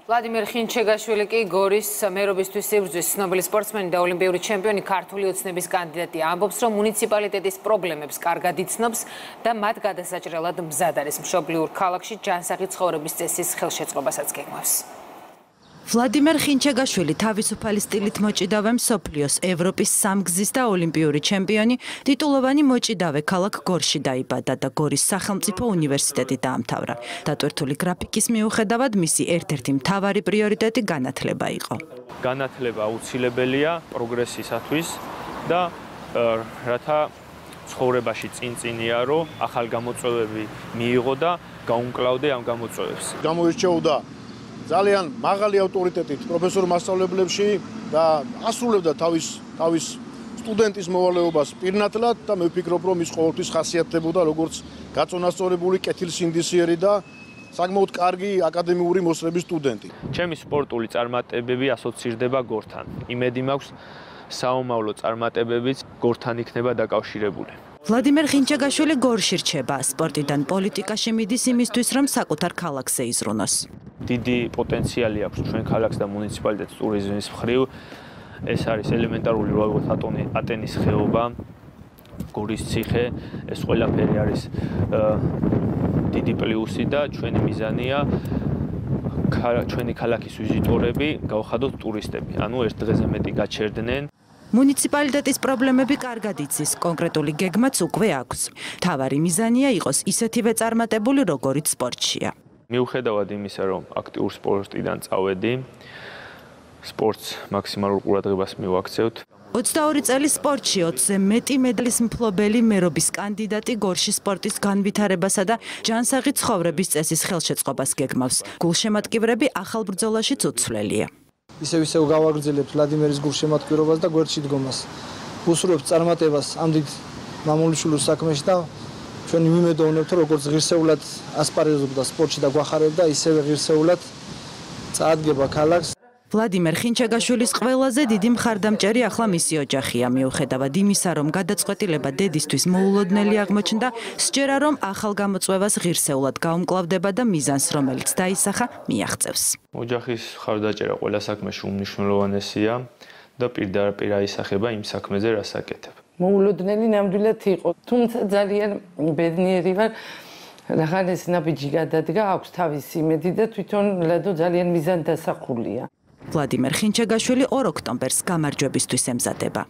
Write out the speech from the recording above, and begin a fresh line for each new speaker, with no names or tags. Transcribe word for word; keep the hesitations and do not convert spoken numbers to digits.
ვლადიმერ ხინჩეგაშვილი კი გორის მერობისთვის სიბრძვის ცნობილი სპორტსმენი და ოლიმპიური ჩემპიონი ქართული ოცნების კანდიდატი ამბობს, რომ მუნიციპალიტეტის პრობლემებს კარგად იცნობს და მათ გადასაჭრელად მზად არის. მშობლიურ ქალაქში ჯანსაღი ცხოვრების წესის ხელშეწყობასაც გეგმავს. ვლადიმერ ხინჩეგაშვილი თავისუფალი სტილით მოჭიდავე მსოფლიოს, ევროპის სამგზის და ოლიმპიური ჩემპიონი, ტიტულოვანი მოჭიდავე ქალაქ გორში დაიბადა და გორის სახელმწიფო უნივერსიტეტი დაამთავრა. დატვირთული გრაფიკის მიუხედავად მისი ერთ-ერთი მთავარი პრიორიტეტი განათლება იყო.
განათლება აუცილებელია პროგრესისათვის და რათა ცხოვრებაში წინ-წინია, რომ ახალ გამოწვევები მიიღო და გაუმკლავდე ამ გამოწვევებს.
გამოირჩეოდა ძალიან მაღალი ავტორიტეტით პროფესორ მასწავლებლებში და ასრულებდა თავის თავის სტუდენტის მოვალეობას პირნათლად და მე ვფიქრობ, რომ ის ყოველთვის ხასიათდებოდა როგორც გაწონასწორებული, კეთილსინდისიერი და საკმაოდ კარგი აკადემიური მოსწრების სტუდენტი.
ჩემი სპორტული წარმატებები ასოცირდება გორთან. იმედი მაქვს, საომავლო წარმატებებიც გორთან იქნება დაკავშირებული.
ვლადიმერ ხინჩეგაშვილი გორში რჩება, სპორტიდან პოლიტიკაში მიდის იმისთვის, რომ საკუთარ ქალაქზე იზრუნოს.
დიდი პოტენციალი აქვს ჩვენ ქალაქს და მუნიციპალიტეტს ტურიზმის მხრივ. ეს არის ელემენტარული როგორც ატენის ხეობა, გორის ციხე, ეს ყველაფერი არის დიდი პლუსი და ჩვენი მიზანია ჩვენი ქალაქის ვიზიტორები გავხადოთ ტურისტები, ანუ ერთ დღეზე მეტი გაჩერდნენ. მუნიციპალიტეტის პრობლემები კარგად იცის, კონკრეტული გეგმაც უკვე აქვს. მთავარი მიზანია იყოს ისეთივე წარმატებული, როგორიც სპორტშია. მიუხედავად იმისა, რომ აქტიურ სპორტიდან წავედი, სპორტს მაქსიმალურ ყურადღებას მივაქცევთ. ოცდაორი წელი სპორტში, ოცზე მეტი მედლის მფლობელი, მერობის კანდიდატი გორში სპორტის განვითარებასა და ჯანსაღი ცხოვრების წესის ხელშეწყობას გეგმავს. გულშემატკივრები ახალ ბრძოლაშიც უცვლელია.
ისევ ისევ გავაგრძელებთ ვლადიმერის გულშემატკივრობას და გვერდში დგომას. უსურვებთ წარმატებას ამ დიდ მამულიშვილის საქმეში და ჩვენ ვიმედოვნებთ, რომ როგორც ღირსეულად ასპარეზობდა სპორტში და გვახარებდა, ისევე ღირსეულად წაადგება ქალაქს. ვლადიმერ ხინჩეგაშვილის ყველაზე დიდი მხარდამჭერი ახლა მისი ოჯახია, მიუხედავად იმისა, რომ გადაწყვეტილება დედისთვის მოულოდნელი აღმოჩნდა, სჯერა, რომ ახალ გამოწვევას ღირსეულად გაუმკლავდება და მიზანს, რომელიც დაისახა, მიაღწევს. ოჯახის მხარდაჭერა ყველა საქმეში უმნიშვნელოვანესია და პირდაპირ აისახება იმ საქმეზე, რაც აკეთებ.
მოულოდნელი ნამდვილად იყო, თუმცა ძალიან ბედნიერი ვარ, რახან ეს ნაბიჯი გადადგა, აქვს თავისი იმედი და თვითონ ლადო ძალიან მიზანდასახულია.
ვლადიმერ ხინჩეგაშვილი ორ ოქტომბერს გამარჯვებისთვის ემზადება.